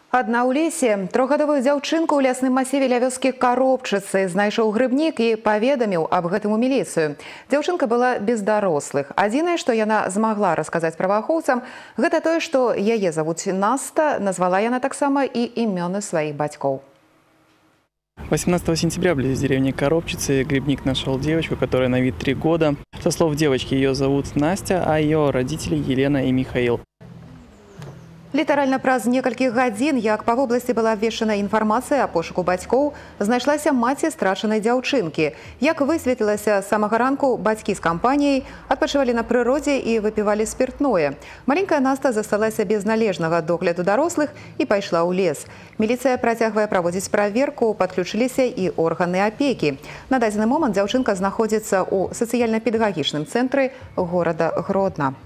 Адна ў лесе трохгадовую дзяўчынку ў лясным масіве ля вёскі Каробчыцы знайшоў грыбнік і паведаміў аб гэтым у міліцыю. Дзяўчынка была без дарослых. Адзінае, што яна змагла расказаць праваахоўцам, гэта тое, што яе завуць Наста, назвала яна таксама і імёны сваіх бацькоў. 18 сентября близ деревни Коробчицы грибник нашел девочку, которая на вид 3 года. Со слов девочки, ее зовут Настя, а ее родители Елена и Михаил. Літаральна праз некалькі гадзін, як па вобласці была абвешчана інфармацыя о пошуку бацькоў, знайшлася маці страчанай дзяўчынкі. Як высветлілася, з самага ранку бацькі з кампаніяй адпачывалі на прыродзе і выпівалі спиртное. Маленькая Наста засталася без належнага догляду дарослых і пайшла ў лес. Міліцыя працягвае праводзіць праверку, падключыліся і органы апекі. На дадзены момант дзяўчынка знаходзіцца ў сацыяльна-педагагічным цэнтры горада Гродна.